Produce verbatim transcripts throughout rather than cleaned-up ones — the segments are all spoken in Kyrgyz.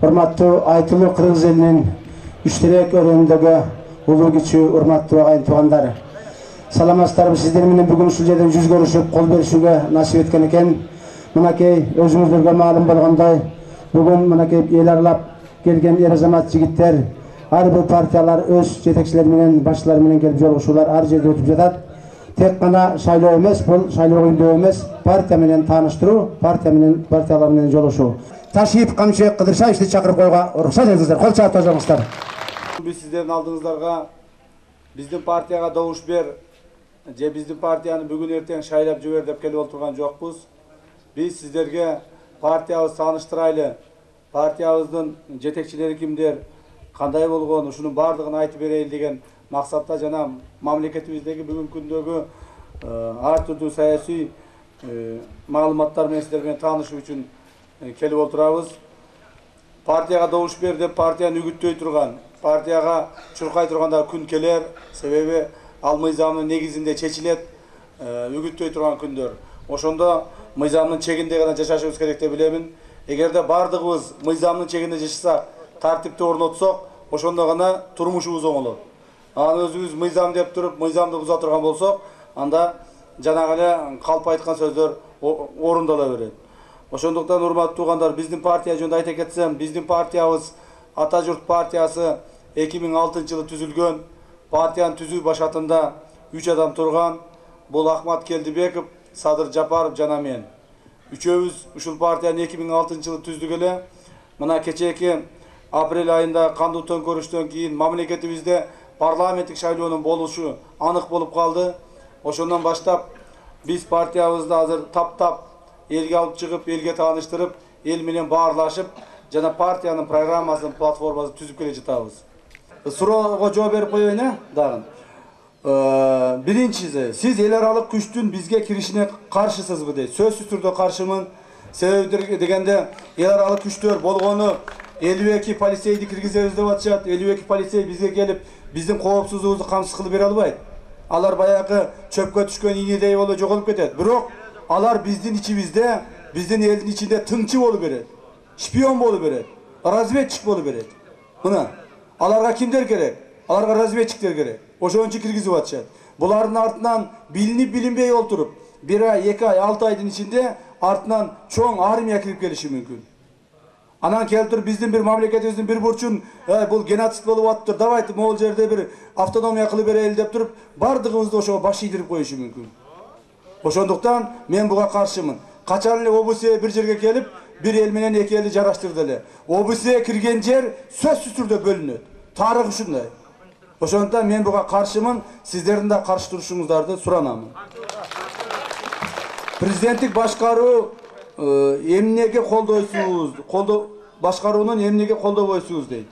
Урматтуу айтылуу кыргыз элинин үчтөрөк өрөөндөгү улуу кичүү урматтуу айыл туугандар. Саламатсыздарбы, сиздер менен бүгүн ушул жерден жүз көрүшүп кол беришүүгө насип эткен экен. Мынакей өзүңүздөргө маалым болгондой, бүгүн мынакей эл аралап келген эр азамат жигиттер, ар бир партиялар өз жетекчилери менен, башчылары менен келип жолугушуулар ар жерде өтүп жатат. Тек гана шайлоо эмес, бул шайлоо күндөө эмес, партия менен тааныштыруу, партия менен партиялар менен жолугушуу. Ташип Камчыбек Кыдыршаевди чакырып коюуга уруксат этиңиздер. Кол чаап тожоңуздар. Биз сиздердин алдыңыздарга биздин партияга добуш бер же биздин партияны бүгүн эртең шайлап жибер деп келип отурган жокпуз. Биз сиздерге партиябызды тааныштырайлы, партиябыздын жетекчилери кимдер, кандай болгон, ушунун баардыгын айтып берейли деген максатта жана мамлекетибиздеги бүгүнкү күндөгү ар түрдүү саясий маалыматтар менен сиздер менен таанышуу үчүн келип отурабыз. Партияга добуш бер деп партияны үгүттөй турган, партияга чуркай турганда күн келер, себеби ал мыйзамдын негизинде чечилет, үгүттөй турган күндөр. Ошондо мыйзамдын чегинде гана жашашыбыз керек деп билемин. Эгерде баардыгыбыз мыйзамдын чегинде жашасак, тартипти орнотсок, ошондо гана турмушубуз оңолот. Аны өзүбүз мыйзам деп туруп, мыйзамды буза турган болсок, анда жанагы эле калп айткан сөздөр орундала берет. Ошондуктан урматтуу туугандар, биздин партия жөнүндө айта кетсем, биздин партиябыз Ата журт партиясы эки миң алтынчы жылы түзүлгөн. Партиянын түзүү башатында үч адам турган. Бул Ахмат Келдибеков, Садыр Жапаров жана мен. Үчөөбүз ушул партияны эки миң алтынчы жылы түздүк эле. Мына кечээки апрель айында кандуу төңкөрүштөн кийин мамлекетибизде парламенттик шайлоонун болушу анык болуп калды. Ошондон баштап биз партиябызды азыр таптап элге алып чыгып, элге тааныштырып, эл менен баарлашып, жана партиянын программасын, платформасын түзүп келе жатабыз. Суроого жооп берип коеюн э, дагы. Биринчиси, сиз эл аралык күчтүн бизге киришине каршысызбы дейт. Сөзсүз түрдө каршымын. Себеби дегенде эл аралык күчтөр болгону элүү эки полицейди киргизебиз деп атышат. элүү эки полицей бизге келип, биздин коопсуздугубузду камсыз кылып бере албайт. Алар баягы чөпкө түшкөн ийнедей болуп жоголуп кетет. Бирок алар биздин ичибизде, биздин элдин ичинде тыңчы болуп берет. Шпион болуп берет. Разведчик болуп берет. Мына, аларга кимдер керек? Аларга разведчиктер керек. Ошон үчүн киргизип атышат. Булардын артынан билинип билинбей олтуруп, бир ай, эки ай, алты айдын ичинде артынан чоң армия кирип келиши мүмкүн. Анан келип туруп биздин бир мамлекетибиздин бир бурчун, бул геноцид болуп атыптыр, давайте могул жерде бир автономия кылып берели деп туруп, бардыгыбызды ошого баш ийдирип коюшу мүмкүн. Ошондуктан мен буга каршымын. Качан эле ОБСЕ бир жерге келип, бир эл менен эки элди жараштырды эле. ОБСЕ кирген жер сөзсүз түрдө бөлүнөт. Тарых ушундай. Ошондуктан мен буга каршымын, сиздердин да каршы турушуңуздарды суранамын. Президенттик башкаруу эмнеге колдойсуз, колдо башкаруунун эмнеге колдобойсуз дейт.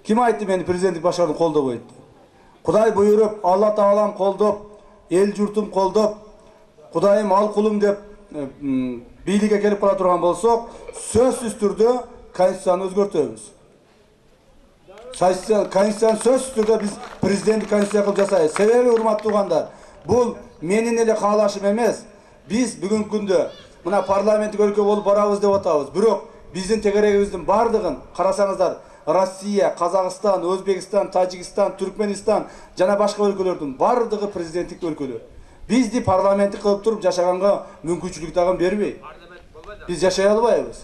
Ким айтты мени президенттик башкарууну колдобойт? Кудай буйруп, Алла Таалам колдоп, эл журтум колдоп, Кудайым ал кулум деп бийликке келип кала турган болсок, сөзсүз түрдө конституцияны өзгөртөбүз. Конституцияны сөзсүз түрдө биз президенттик конституция кылып жасайбыз. Себеби, урматтуу туугандар, бул менин эле каалашым эмес. Биз бүгүнкү күндө мына парламенттик өлкө болуп барабыз деп атабыз. Бирок биздин тегерегибиздин бардыгын карасаңыздар, Россия, Казакстан, Өзбекстан, Тажикстан, Түркменистан жана башка өлкөлөрдүн бардыгы президенттик өлкөлөр. Бизди парламенттик кылып туруп жашаганга мүмкүнчүлүк дагы бербейт. Биз жашай албайбыз.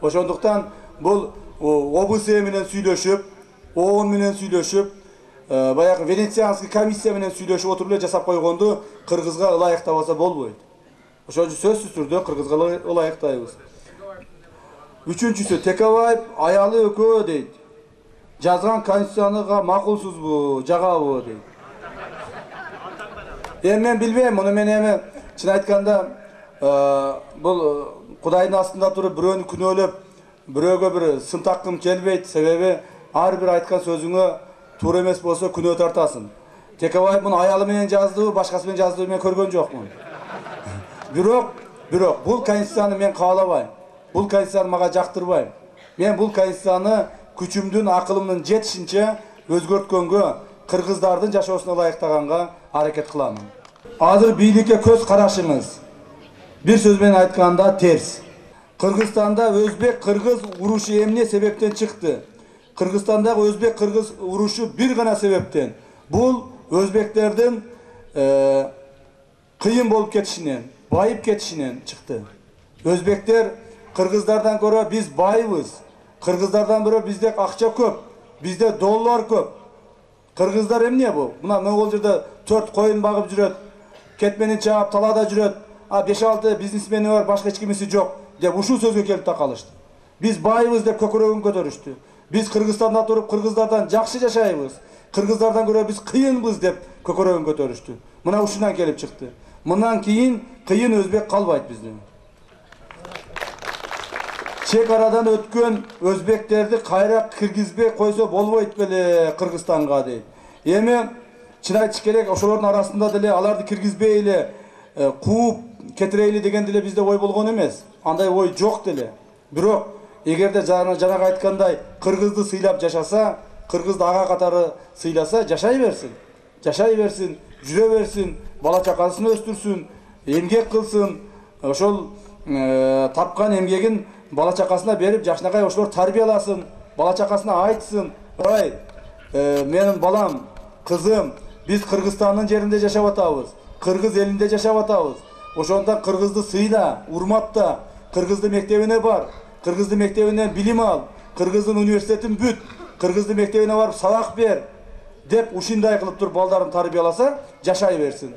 Ошондуктан бул ОБСЕ менен сүйлөшүп, ООН менен сүйлөшүп, баягы Венецианский комиссия менен сүйлөшүп отуруп эле жасап койгонду кыргызга ылайыктабаса болбойт. Ошон үчүн сөзсүз түрдө кыргызга ылайыктайбыз. Үчүнчүсү, Текебаев аялы экөө дейт. Жазган конституцияга макулсузбу, жагабы дейт. Эми мен билбейм, муну мен эми чын айтканда бул Кудайдын астында туруп бирөөнү күнөөлөп, бирөөгө бир сын таккым келбейт. Себеби ар бир айткан сөзүңө туура эмес болсо күнөө тартасың. Текебаев муну аялы менен жаздыбы, башкасы менен жаздыбы мен көргөн жокмун. Бирок, бирок бул конституцияны мен каалабайм. Бул конституцияны мага жактырбайм. Мен бул конституцияны күчүмдүн, акылымдын жетишинче өзгөрткөнгө, кыргыздардын жашоосуна ылайыктаганга аракет кыламын. Азыр бийликке көз карашыңыз бир сөз менен айтканда терс. Кыргызстанда өзбек-кыргыз урушу эмне себептен чыкты? Кыргызстандагы өзбек-кыргыз урушу бир гана себептен. Бул өзбектердин кыйын болуп кетишинен, байып кетишинен чыкты. Өзбектер кыргыздардан көрө биз байбыз. Кыргыздардан көрө бизде акча көп, бизде доллар көп. Кыргыздар эмне бул? Мына могул жерде төрт коюн багып жүрөт, кетменин чаап талаада жүрөт. А беш алты бизнесмени бар, башка эч кимиси жок деп ушул сөзгө келип такалышты. Биз байбыз деп көкөрөгүн көтөрүштү. Биз Кыргызстанда туруп кыргыздардан жакшы жашайбыз. Кыргыздардан көрө биз кыйынбыз деп көкөрөгүн көтөрүштү. Мына ушундан келип чыкты. Мындан кийин кыйын өзбек калбайт бизде. Чек арадан өткөн өзбектерди кайра киргизбей койсо болбойт беле Кыргызстанга дейт. Эми чын айтыш керек, ошолордун арасында деле аларды киргизбей эле кууп кетирейли деген деле бизде ой болгон эмес. Андай ой жок деле. Бирок эгерде жанагы айткандай кыргызды сыйлап жашаса, кыргызды ага катары сыйласа, жашай берсин. Жашай берсин, жүрө берсин, бала чакасын өстүрсүн, эмгек кылсын. Ошол тапкан эмгегин бала чакасына берип, жакшынакай ошолор тарбияласын, бала чакасына айтсын. Ой, менин балам, кызым, биз Кыргызстандын жеринде жашап атабыз, кыргыз элинде жашап атабыз. Ошондон кыргызды сыйла, урматта, кыргызды мектебине бар, кыргызды мектебинен билим ал, кыргыздын университетин бүт, кыргызды мектебине барып сабак бер деп ушундай кылып туруп балдарын тарбияласа, жашай берсин.